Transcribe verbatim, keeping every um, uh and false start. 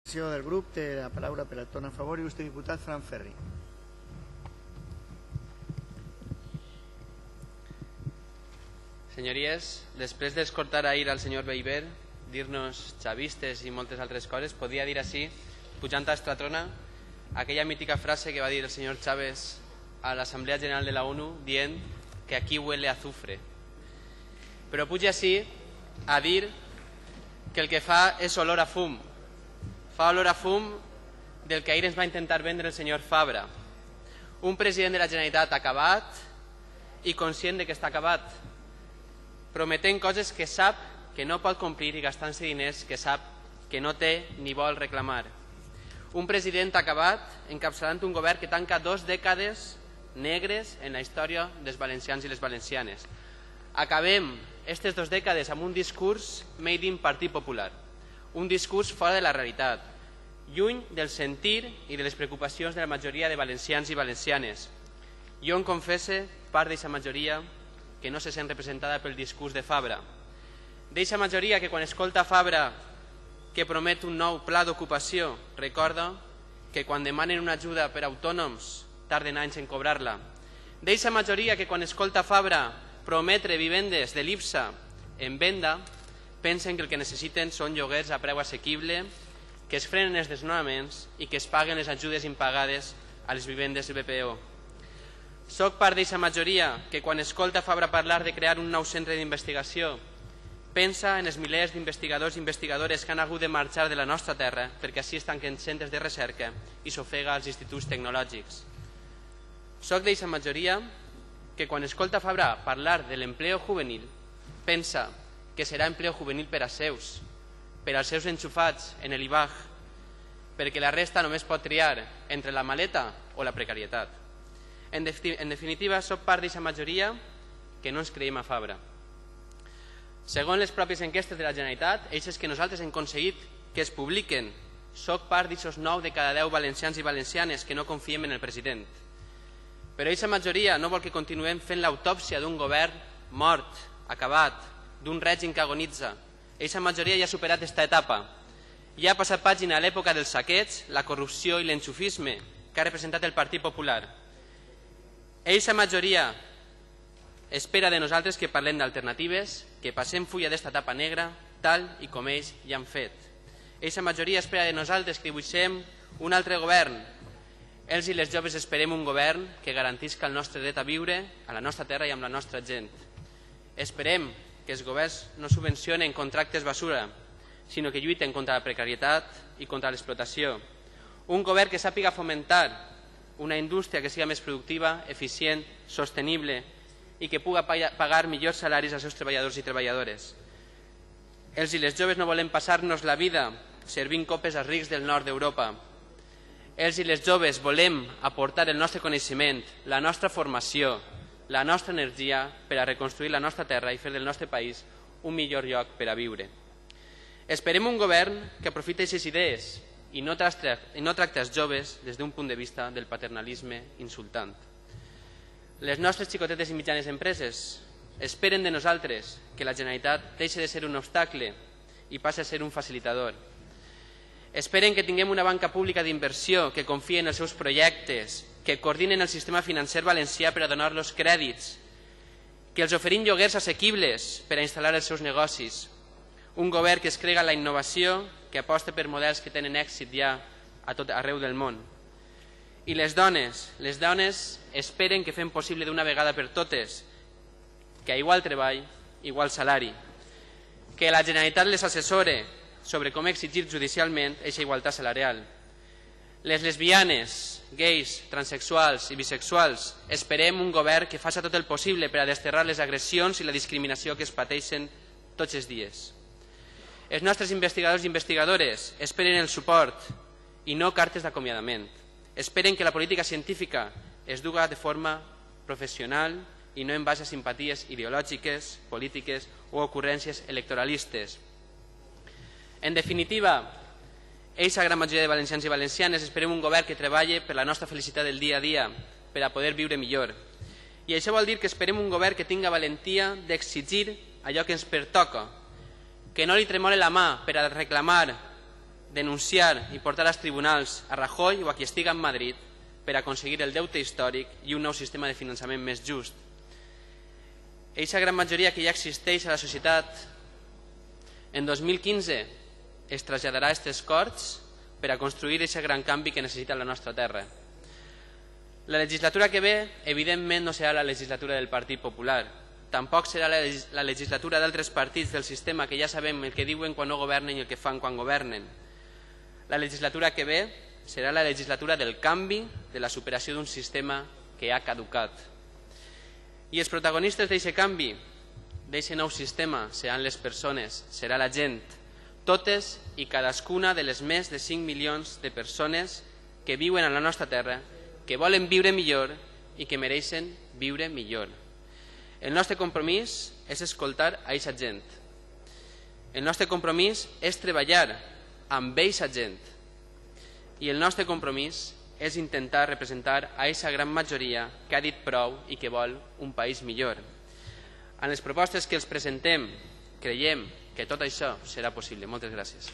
Del grup té la paraula per el torn a favor il·lustre diputat Fran Ferri. Senyories, després d'escoltar ahir al senyor Beiber dir-nos xavistes i moltes altres coses, podia dir així, pujant a Estratrona, aquella mítica frase que va dir el senyor Chávez a l'Assemblea General de la ONU dient que aquí huele a azufre. Però puja així a dir que el que fa és olor a fum. Fa olor a fum del que ahir ens va intentar vendre el senyor Fabra. Un president de la Generalitat acabat i conscient de que està acabat, prometent coses que sap que no pot complir i gastant-se diners que sap que no té ni vol reclamar. Un president acabat encapçalant un govern que tanca dos dècades negres en la història dels valencians i les valencianes. Acabem aquestes dues dècades amb un discurs made in Partit Popular. Un discurs fora de la realitat, lluny del sentir i de les preocupacions de la majoria de valencians i valencianes. Jo em confesse part d'aquesta majoria que no se sent representada pel discurs de Fabra. D'aquesta majoria que quan escolta Fabra que promet un nou pla d'ocupació recorda que quan demanen una ajuda per a autònoms tarden anys en cobrar-la. D'aquesta majoria que quan escolta Fabra prometre vivendes de l'I B S A en venda pensen que el que necessiten són lloguers a preu assequible, que es frenen els desnonaments i que es paguen les ajudes impagades a les vivendes del B P O. Soc part d'aquesta majoria que quan escolta Fabra parlar de crear un nou centre d'investigació pensa en els milers d'investigadors i investigadores que han hagut de marxar de la nostra terra perquè així es tanquen centres de recerca i s'ofega als instituts tecnològics. Soc d'aquesta majoria que quan escolta Fabra parlar de l'empleo juvenil pensa que serà empleo juvenil per a seus, per als seus enxufats en l'I B A G, perquè la resta només pot triar entre la maleta o la precarietat. En definitiva, soc part d'aquesta majoria que no ens creiem a Fabra. Segons les pròpies enquestes de la Generalitat, eixes que nosaltres hem aconseguit que es publiquen, soc part d'aquests nou de cada deu valencians i valencianes que no confiem en el president. Però aquesta majoria no vol que continuem fent l'autòpsia d'un govern mort, acabat, d'un règim que agonitza. Aquesta majoria ja ha superat aquesta etapa. Ja ha passat pàgina a l'època dels saqueig, la corrupció i l'enxufisme que ha representat el Partit Popular. Aquesta majoria espera de nosaltres que parlem d'alternatives, que passem fulla d'esta etapa negra, tal i com ells ja han fet. Aquesta majoria espera de nosaltres que dibuixem un altre govern. Ells i les joves esperem un govern que garantisca el nostre dret a viure a la nostra terra i amb la nostra gent. Esperem que els governs no subvencionen contractes basura, sinó que lluiten contra la precarietat i contra l'explotació. Un govern que sàpiga fomentar una indústria que siga més productiva, eficient, sostenible i que puga pagar millors salaris als seus treballadors i treballadores. Els i les joves no volem passar-nos la vida servint copes als rics del nord d'Europa. Els i les joves volem aportar el nostre coneixement, la nostra formació, la nostra energia per a reconstruir la nostra terra i fer del nostre país un millor lloc per a viure. Esperem un govern que aprofiti aquestes idees i no tracti els joves des d'un punt de vista del paternalisme insultant. Les nostres xicotetes i mitjanes empreses esperen de nosaltres que la Generalitat deixi de ser un obstacle i passi a ser un facilitador. Esperen que tinguem una banca pública d'inversió que confiï en els seus projectes, que coordinen el sistema financer valencià per a donar-los crèdits, que els oferim lloguers assequibles per a instal·lar els seus negocis, un govern que es crega en la innovació, que aposta per models que tenen èxit ja a tot arreu del món. I les dones, les dones esperen que fem possible d'una vegada per totes que a igual treball, igual salari, que la Generalitat les assessore sobre com exigir judicialment aquesta igualtat salarial. Les lesbianes, gais, transexuals i bisexuals esperem un govern que faci tot el possible per a desterrar les agressions i la discriminació que es pateixen tots els dies. Els nostres investigadors i investigadores esperen el suport i no cartes d'acomiadament. Esperen que la política científica es duga de forma professional i no en base a simpaties ideològiques, polítiques o ocurrències electoralistes. En definitiva, eixa gran majoria de valencians i valencianes esperem un govern que treballi per la nostra felicitat del dia a dia, per a poder viure millor. I això vol dir que esperem un govern que tinga valentia d'exigir allò que ens pertoca, que no li tremole la mà per a reclamar denunciar i portar als tribunals a Rajoy o a qui estiga en Madrid per aconseguir el deute històric i un nou sistema de finançament més just. Eixa gran majoria que ja existeix a la societat en dos mil quinze es traslladarà a aquestes Corts per a construir aquest gran canvi que necessita la nostra terra. La legislatura que ve, evidentment, no serà la legislatura del Partit Popular. Tampoc serà la legislatura d'altres partits del sistema que ja sabem el que diuen quan no governen i el que fan quan governen. La legislatura que ve serà la legislatura del canvi, de la superació d'un sistema que ha caducat. I els protagonistes d'aquest canvi, d'aquest nou sistema, seran les persones, serà la gent, totes i cadascuna de les més de cinc milions de persones que viuen a la nostra terra, que volen viure millor i que mereixen viure millor. El nostre compromís és escoltar a aquesta gent. El nostre compromís és treballar amb aquesta gent. I el nostre compromís és intentar representar a aquesta gran majoria que ha dit prou i que vol un país millor. En les propostes que els presentem creiem que tot això serà possible. Moltes gràcies.